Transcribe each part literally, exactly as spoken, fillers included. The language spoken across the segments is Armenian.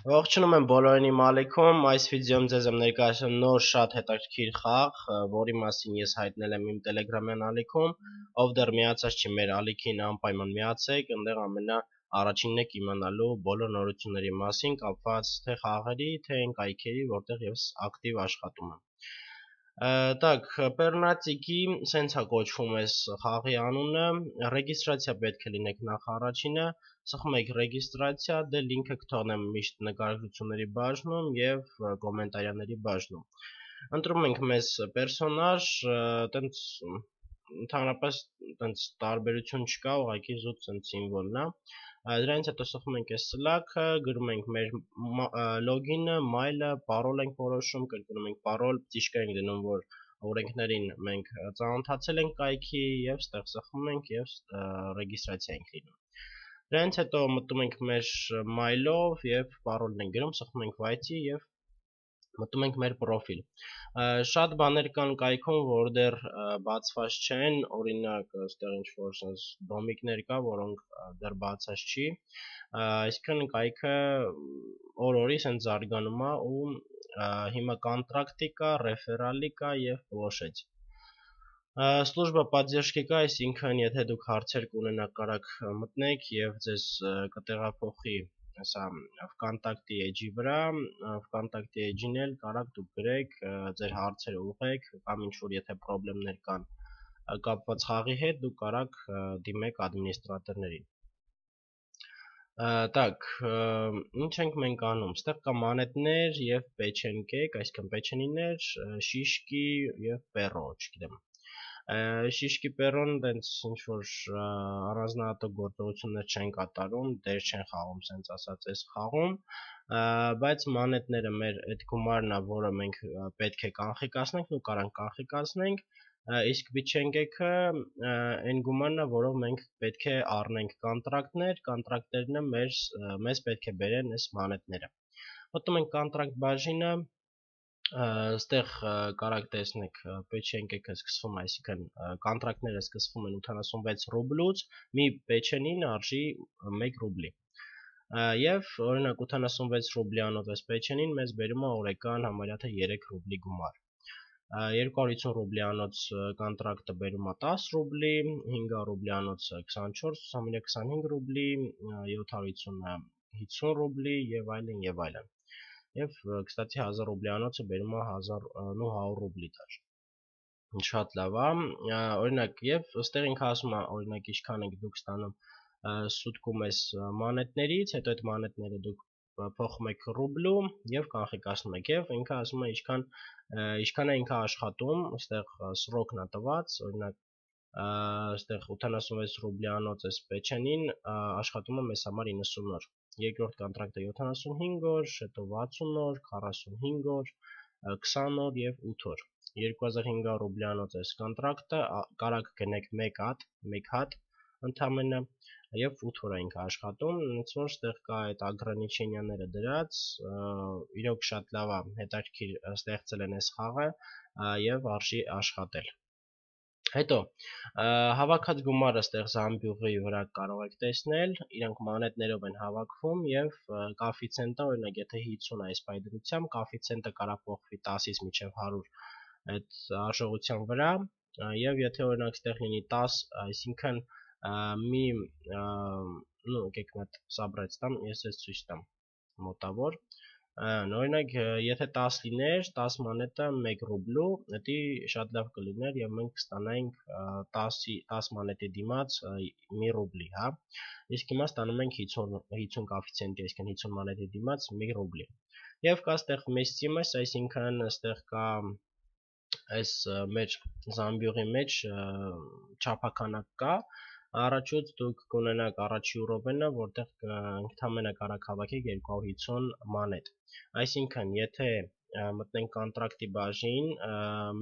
Ողջունում եմ բոլորին իմ ալիքում, այս վիդեոյում ձեզ եմ ներկայացնում նոր շատ հետաքրքիր խաղ, որի մասին ես հայտնել եմ իմ Telegram-յան ալիքում, ով դեռ միացած չի մեր ալիքին անպայման միացեք, այնտեղ ամենա առաջինն եք իմանալու բոլոր նորությունների մասին, կապված թե խաղերի, թե այն կայքերի, որտեղ ես ակտիվ աշխատում եմ։ Так, Pernatic-ի սենց է կոչվում այս խաղի անունը, ռեգիստրացիա պետք է լինեք նախ առաջինը, սխում եք ռեգիստրացիա, դե լինքը կթողնեմ միշտ նկարագրությունների բաժնում և կոմենտարյաների բաժնում։ Ընտրում ենք մեզ պերսոնաժ, տենց ընդհանրապես տենց տարբերություն չկա, ուղղակի զուտ սենց սիմվոլն է։ Դրանից հետո սխում ենք այս սլաքը, գրում ենք մեր լոգինը, մայլը, պարոլ ենք որոշում, կրկնում ենք պարոլ, ճիշտ ենք դնում, որ օրենքներին մենք ծանոթացել ենք կայքի և ստեղ սխում ենք և ռեգիստրացիա ենք լինում։ Դրանից հետո մտնում ենք մեր մայլով և պարոլն ենք գրում, սխում ենք վայցի և մտնում ենք մեր պրոֆիլ։ Շատ բաներ կան կայքում, որ դեռ բացված չեն, օրինակ այստեղ ինչ-որ sense դոմիկներ կա, որոնք դեռ բացած չի, այսինքն կայքը օր-օրի sense զարգանում է ու հիմա կոնտրակտի կա, ռեֆերալի կա և պլոշեց։ Служба поддержки կա, այսինքն եթե դուք հարցեր կունենաք, կարաք մտնեք և ձեզ կտեղափոխի Սա վկոնտակտի էջի վրա, վկոնտակտի էջին էլ կարաք դուք գրեք, ձեր հարցերը ուղղեք, կամ ինչ-որ եթե պրոբլեմներ կան կապված խաղի հետ, դուք կարաք դիմեք ադմինիստրատորներին։ Так, ինչ ենք մենք անում, ստեղ կա մանետներ և պեչենկեք, այսինքն պեչենիներ, շիշկի և պերո, չգիտեմ։ Շիշկի պերոն դենց ինչ-որ առանձնահատուկ գործողություններ չեն կատարում, դեր չեն խաղում, սենց ասած այս խաղում, բայց մանետները մեր այդ գումարն է, որը մենք պետք է կանխիկացնենք, ու կարանք կանխիկացնենք, իսկ պեչենկեքը այն գումարն է, որով մենք պետք է առնենք կոնտրակտներ, կոնտրակտերն մեզ պետք է բերեն այս մանետները։ Մտնում ենք կոնտրակտ բաժինը, Ստեղ կարաք տեսնեք պեչենկեքը սկսվում, այսինքն կոնտրակտները սկսվում են ութանասունվեց ռուբլուց, մի պեչենին արժի մեկ ռուբլի։ Եվ օրինակ ութանասունվեց ռուբլյանոց այս պեչենին մեզ բերում է օրական համարյա թե երեք ռուբլի գումար։ երկու հարյուր ութ ռուբլյանոց կոնտրակտը բերում է տաս ռուբլի, հինգ ռուբլյանոցը քսանչորս, համարյա քսանհինգ ռուբլի, յոթ հարյուր ութը հինգսուն ռուբլի եւ այլն եւ այլն։ Եվ կստացի հազար ռուբլյանոցը բերում է հազար նույնհարյուր ռուբլի դար։ Շատ լավ է, օրինակ եւ ըստեղ ինքը ասում է, օրինակ ինչքան եք դուք ստանում սուտկում այս մանետներից, հետո այդ մանետները դուք փոխում եք ռուբլու եւ կանխիկացնում եք եւ ինքը ասում է ինչքան ինչքան է ինքը աշխատում, ըստեղ սրոկն է տված, օրինակ ըստեղ ութանասունվեց ռուբլյանոց այս պեչենին աշխատում է մեզ համար իննսուն օր։ Երկրորդ կոնտրակտը յոթանասունհինգ օր, հետո վաթսուն օր, քառասունհինգ օր, քսան օր եւ ութ օր։ երկու հազար հինգ հարյուր ռուբլյանոց այս կոնտրակտը կարաք գնեք մեկ հատ, մեկ հատ ընդամենը եւ ութ օր է ինքը աշխատում, ոնց որ ստեղ կա այդ ագրանիչենիաները դրած, իրոք շատ լավ է, հետաքրքիր ստեղծել են այս խաղը եւ արժի աշխատել։ Հետո հավաքած գումարը ստեղ զամբյուղի վրա կարող եք տեսնել, իրանք մանետներով են հավաքվում եւ կոեֆիցիենտը, օրինակ եթե հինգսուն է այս պայդրությամբ, կոեֆիցիենտը կարող փոխվի տասից մինչեւ հարյուր այդ արժողության վրա եւ եթե օրինակ ստեղ լինի տաս, այսինքն մի նո եկեք մոտ սաբրեց տամ, ես ես ցույց տամ մոտավոր Օրինակ, եթե տաս լիներ, տաս մանետը մեկ ռուբլու, դա շատ լավ կլիներ եւ մենք կստանայինք տաս մանետի դիմաց մի ռուբլի, հա։ Իսկ հիմա ստանում ենք հինգսուն կոեֆիցիենտի, այսինքն հինգսուն մանետի դիմաց մի ռուբլի։ Եվ կա ստեղ մեսցիմս, այսինքն ստեղ կա այս մեր զամբյուղի մեջ չափականակ կա Առաջուց դուք կունենաք առաջի րոպենը, որտեղ ընդհանրապես կարաք հավաքեք երկու հարյուր հինգսուն մանետ։ Այսինքն, եթե մտնենք կոնտրակտի բաժին,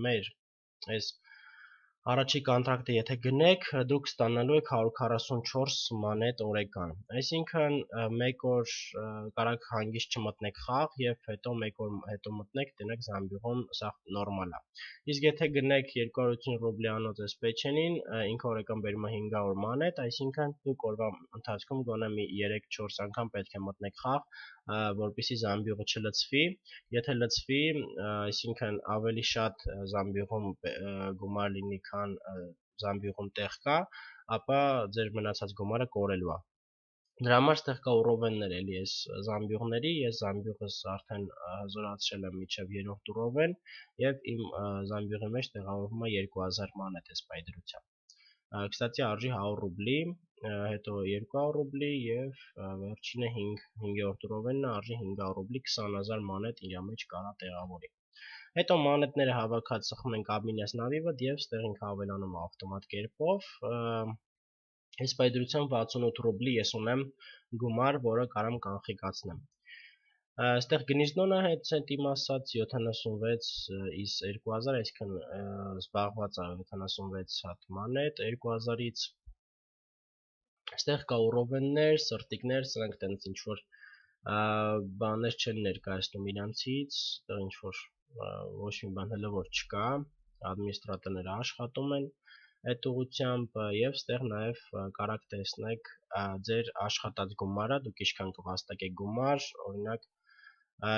մեր այս Առաջի կոնտրակտը եթե գնեք, դուք ստանալու եք հարյուր քառասունչորս մանետ օրական։ Այսինքն մեկ օր կարաք հանգիստ չմտնեք խաղ եւ հետո մեկ օր հետո մտնեք, տնեք Զամբյուղում, սա նորմալ է։ Իսկ եթե գնեք երկու հարյուր ութսուն ռուբլի անոց էս Պեչենին, ինքը օրական բերում է հինգ հարյուր մանետ, այսինքն դուք օրվա ընթացքում գոնե մի երեք չորս անգամ պետք է մտնեք խաղ, որպեսզի Զամբյուղը չլցվի։ Եթե լցվի, այսինքն ավելի շատ Զամբյուղում գումար լինի, քան Զամբյուղում տեղ կա, ապա ձեր մնացած գումարը կորելու է։ Դրա համար ստեղ կա ուռովեններ էլի այս Զամբյուղների, ես Զամբյուղս արդեն հզորացրել եմ մինչև երրորդ ուռովեն եւ իմ Զամբյուղի մեջ տեղավորվում է երկու հազար մանետ էս պայդրությամբ։ Կստացի արժի հարյուր ռուբլի, հետո երկու հարյուր ռուբլի եւ վերջինը հինգերորդ ուռովենն արժի հինգ հարյուր ռուբլի, քսան հազար մանետ իր մեջ կարա տեղավորի։ Հետո մանետները հավաքած սխում ենք Abminas Navivad եւ ստեղ ինքը ավելանում ավտոմատ կերպով։ Այս պայդրությամբ վաթսուն ութ ռուբլի ես ունեմ գումար, որը կարամ կանխիկացնեմ։ Այստեղ գնիզնոնը հետ ցենտիմ ասած յոթանասունվեց իս երկու հազար, այսինքն զբաղված է յոթանասունվեց հատ մանետ երկու հազարից։ Այստեղ կա ուռովեններ, սրտիկներ, սրանք տենց ինչ որ բաներ չեն ներկայացնում իրանցից, այդտեղ ինչ որ ոչ մի բան հələ որ չկա, ադմինիստրատորները աշխատում են այդ ուղղությամբ եւ ստեղ նաեւ կարաք տեսնեք ձեր աշխատած գումարը, դուք ինչքան կվաստակեք գումար, օրինակ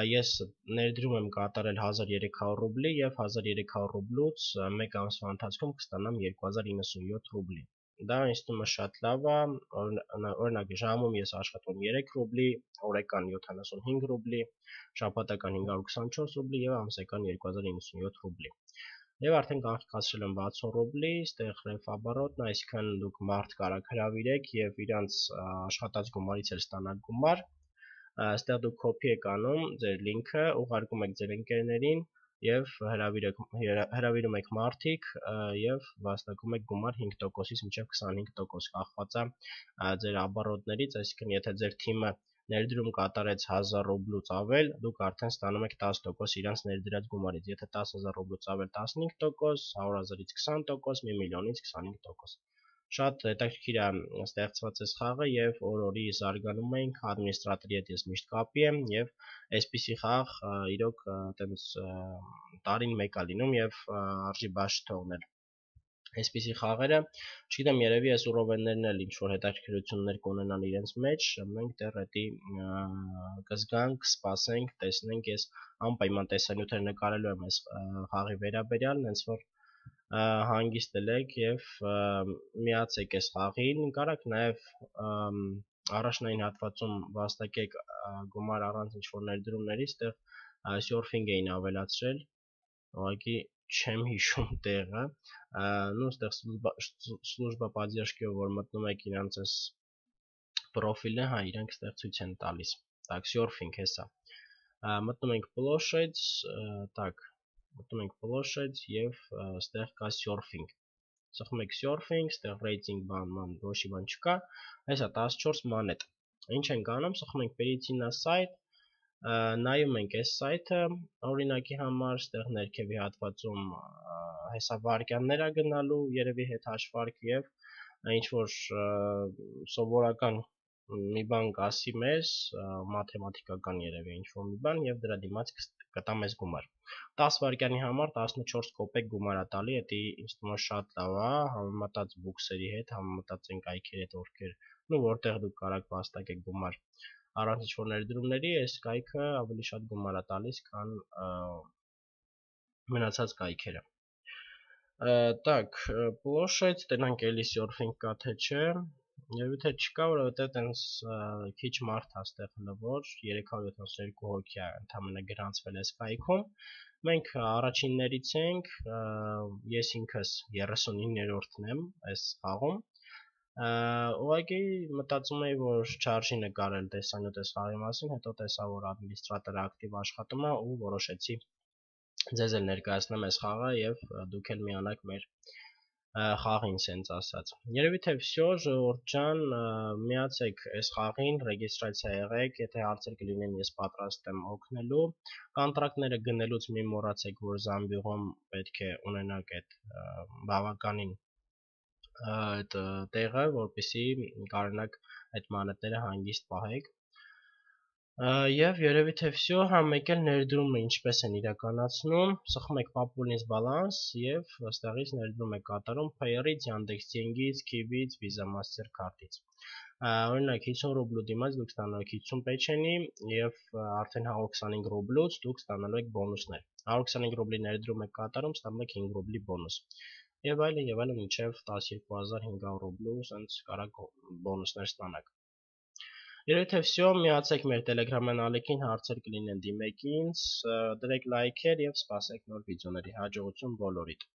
ես ներդրում եմ կատարել հազար երեք հարյուր ռուբլի եւ հազար երեք հարյուր ռուբլուց մեկ ամսվա ընթացքում կստանամ երկու հազար իննսունյոթ ռուբլի։ Դա ինձ թվում է շատ լավ է, օրինակ ժամում ես աշխատում երեք ռուբլի, օրական յոթանասունհինգ ռուբլի, շաբաթական հինգ հարյուր քսանչորս ռուբլի եւ ամսական երկու հազար իննսունյոթ ռուբլի։ Եվ արդեն կանխիկացրել եմ վաթսուն ռուբլի, ստեղ ռեֆաբարոտն, այսինքն դուք մարդ կարաք հրավիրեք եւ իրանց աշխատած գումարից էլ ստանալ գումար։ Այստեղ դուք կոպի եք անում ձեր լինքը, ուղարկում եք ձեր ընկերներին եւ հրավիրում եք մարդիկ եւ վաստակում եք գումար հինգ տոկոսից մինչեւ քսանհինգ տոկոս կախված է ձեր ապարոտներից, այսինքն եթե ձեր թիմը ներդրում կատարեց հազար ռուբլուց ավել, դուք արդեն ստանում եք տասը տոկոս իրանց ներդրած գումարից, եթե տասը հազար ռուբլուց ավել տասնհինգ տոկոս, հարյուր հազարից քսան տոկոս, մի միլիոնից քսանհինգ տոկոս։ Շատ հետաքրքիր է ստեղծված այս խաղը եւ օր-օրի զարգանում ենք, ադմինիստրատորի հետ ես միշտ կապի եմ եւ այսպիսի խաղ իրոք այտենց տարին մեկ է լինում եւ արժի բաց չթողնել։ Այսպիսի խաղերը, չգիտեմ, երևի այս ուռովեններն էլ ինչ որ հետաքրքրություններ կունենան իրենց մեջ, մենք դեռ էդի կզգանք, կսպասենք, տեսնենք, ես անպայման տեսանյութեր նկարելու եմ այս խաղի վերաբերյալ, հենց որ հանգիստ ելեք եւ միացեք այս խաղին, կարաք նաեւ առաջնային հատվածում վաստակեք գումար առանց ինչ որ ներդրումների, այստեղ սյորֆինգ էին ավելացրել, ուղղակի չեմ հիշում տեղը, ну այստեղ служба поддержки, որ մտնում եք իրանց այս պրոֆիլը, հա, իրանք այստեղ ցույց են տալիս։ Так, surfing հեսա։ Մտնում ենք plощадь, так, մտնում ենք plощадь եւ այստեղ կա surfing։ Սխում եք surfing, այստեղ rating բան, ման, ոչի բան չկա, հեսա տասնչորս մանետ։ Ինչ ենք անում, սխում ենք перейти на сайт, նայում ենք այս սայթը, օրինակի համար, այստեղ ներքևի հատվածում հեսա վարկյաններ է գնալու, երևի հետ հաշվարկ եւ ինչ որ սովորական մի բան կասի մեզ, մաթեմատիկական երևի ինչ որ մի բան եւ դրա դիմաց կտա մեզ գումար։ տասը վարկյանի համար տասնչորս կոպեկ գումար է տալի, դա ինձ թվում է շատ լավ է, համեմատած բուքսերի հետ, համեմատած այն կայքերի հետ, որքեր, ну որտեղ դուք կարաք վաստակեք գումար առանց ինչ-որ ներդրումների, այս կայքը ավելի շատ գումար է տալիս, քան մնացած կայքերը։ Так, площадь, տենանք էլի surfing կա թե չէ, եւ եթե չկա, որովհետեւ տենց քիչ մարդ է այստեղ հլվոր, երեք հարյուր յոթանասունյոթ հոգի է ընդամենը գրանցվել այս կայքում։ Մենք առաջիններից ենք, ես ինքս երեսունիններորդն եմ այս խաղում։ Ուղղակի մտածում էի, որ չարժի նկարել տեսանյութ այս խաղի մասին, հետո տեսա, որ ադմինիստրատորը ակտիվ աշխատում է ու որոշեցի ձեզ էլ ներկայացնեմ այս խաղը եւ դուք էլ միանաք մեր խաղին սենց ասած։ Երևի թե վсё, ժողովուրդ ջան, միացեք այս խաղին, ռեգիստրացիա եղեք, եթե հարցեր կլինեն, ես պատրաստ եմ օգնելու։ Կոնտրակտները գնելուց մի մոռացեք, որ Զամբյուղում պետք է ունենաք այդ բավականին այդ տեղը, որպեսզի կարողանաք այդ մանրետները հանգիստ պահեք։ Եվ երևի թե վсё, հա մեկ էլ ներդրումը ինչպես են իրականացնում, սխում եք Populins Balance եւ այստեղից ներդրում եք կատարում Payer-ից, Yandex Деньги-ից, Kiwi-ից, Visa Mastercard-ից։ Օրինակ հիսուն ռուբլու դիմաց դուք ստանալու եք հիսուն պեչենի եւ արդեն հարյուր քսանհինգ ռուբլուց դուք ստանալու եք բոնուսներ։ հարյուր քսանհինգ ռուբլի ներդրում եք կատարում, ստանում եք հինգ ռուբլի բոնուս։ Եվ այլն եւ այլն մինչեւ տասնյոթ հազար հինգ հարյուր ռուբլու, ասենց կարակ բոնուսներ ստանաք։ Երևի թե վсё, միացեք մեր Telegram-յան ալիքին, հարցեր կլինեն դիմեք ինձ, դրեք լայքեր եւ սպասեք նոր վիդեոների, հաջողություն բոլորիդ։